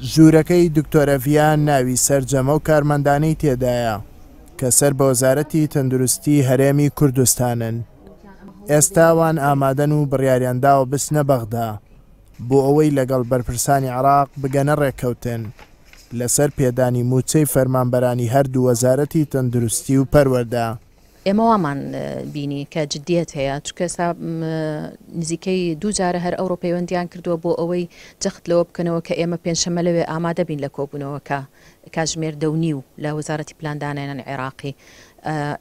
ژوورەکەی دکتۆرە ڤیان ناوی سەرجەم ئەو کارمەندانەی تێدایە کە سەر بە وەزارەتی تەندروستی هەرێمی کوردستانن. ئێستا ئەوان ئامادەن و بڕیاریان داوە بچنە بەغدا بۆ ئەوەی لەگەڵ بەرپرسانی عێراق بگەنە ڕێککەوتن لەسەر پێدانی مووچەی فەرمانبەرانی هەردوو وەزارەتی تەندروستی و پەروەردە. ئێمە وامان بینی کە جدیەت هەیە، چونکە ئێستا نزیکەی دوو جارە هەر ئەوڕۆ پەیوەندیان کردووە بۆ ئەوەی جەخت لەوە بکەنەوە کە ئێمە پێنجشەممە لەوێ ئامادە بین لە کۆبوونەوەکە کاتژمێر دە و نیو لە وەزارەتی پلاندانانی عێراقی.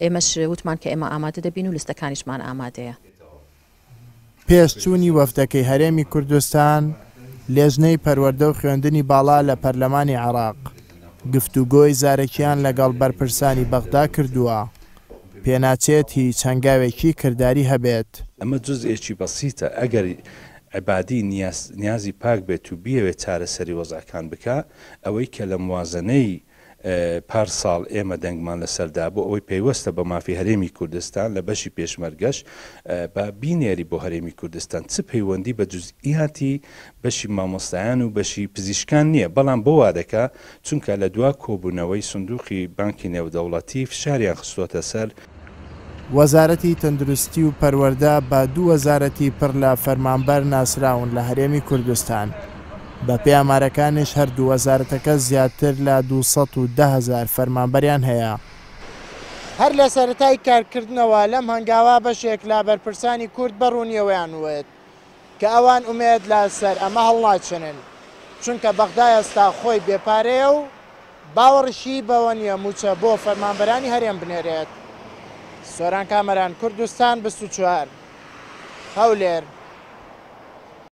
ئێمەش وتمان کە ئێمە ئامادە دەبین و لستەکانیشمان ئامادەیە. پێش چوونی وەفدەکەی هەرێمی کوردستان، لێژنەی پەروەردە و خوێندنی باڵا لە پەرلەمانی عێراق، گفتوگۆی زارەکیان لەگەڵ بەرپرسانی بەغدا کردووە، پێناچێت هیچ هەنگاوێکی کرداری هەبێت. ئەمە جوزئێکی بەسیتە، ئەگەر عەبادی نیازی پاک بێت و بیەوێت چارەسەری وەزعەکان بکا، ئەوەی کە لە موازەنەی پار ساڵ ئێمە دەنگمان لەسەر دا بۆ ئەوەی پەیوەستە بە مافی هەرێمی کوردستان لە بەشی پێشمەرگەش با بینێری بۆ هەرێمی کوردستان چ پەیوەندی بە جوزئیاتی بەشی مامۆستایان و بەشی پزیشکان نییە بەڵام بۆ وا دەکا چونکە لە دوا کۆبوونەوەی سندوقی بانکی نێودەوڵەتی فشاریان خستۆتە سەر وەزارەتی تەندروستی و پەروەردە بە دوو وەزارەتی پڕ لە فەرمانبەر ناسراون لە هەرێمی کوردستان، بەپێی ئامارەکانیش هەردوو وەزارەتەکە زیاتر لە 210 هەزار فەرمانبەریان هەیە. هەر لە سەرەتای کارکردنەوە لەم هەنگاوە بەشێک لە بەرپرسانی کورد بە ڕوونییەوەیان وت کە ئەوان ئومێد لە سەر ئەمە هەڵناچنن، چونکە بەغدا ئێستا خۆی بێ پارەیە و باوەڕیشی بەوە نییە مووچە بۆ فەرمانبەرانی هەرێم بنێرێت. سۆران کامەران، کوردستان 24، هەولێر.